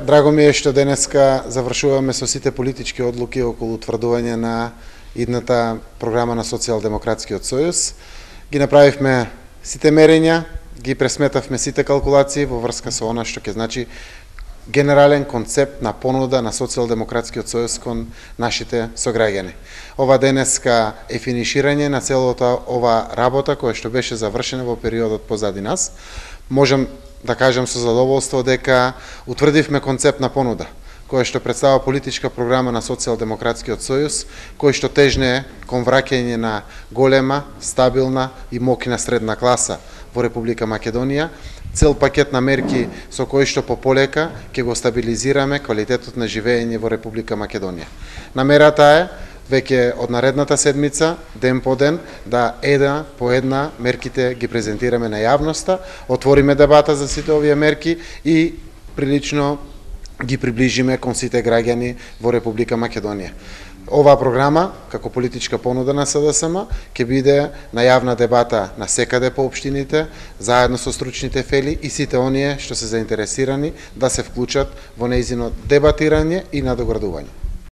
Драго ми е што денеска завршуваме со сите политички одлуки околу утврдување на идната програма на Социјалдемократскиот сојуз. Ги направивме сите мерења, ги пресметавме сите калкулации во врска со она што ќе значи генерален концепт на понуда на Социјалдемократскиот сојуз кон нашите сограѓани. Ова денеска е финиширање на целата ова работа која што беше завршена во периодот позади нас. Можам да кажам со задоволство дека утврдивме концепт на понуда, која што представува политичка програма на Социјалдемократскиот сојуз, кој што тежне кон враќање на голема, стабилна и моќна средна класа во Република Македонија, цел пакет на мерки со кои што пополека ќе го стабилизираме квалитетот на живење во Република Македонија. Намерата е веќе од наредната седмица, ден по ден, да една по една мерките ги презентираме на јавноста, отвориме дебата за сите овие мерки и прилично ги приближиме кон сите граѓани во Република Македонија. Оваа програма, како политичка понуда на СДСМ, ќе биде на јавна дебата на секаде по општините, заедно со стручните фели и сите оние што се заинтересирани да се вклучат во нејзино дебатирање и надоградување.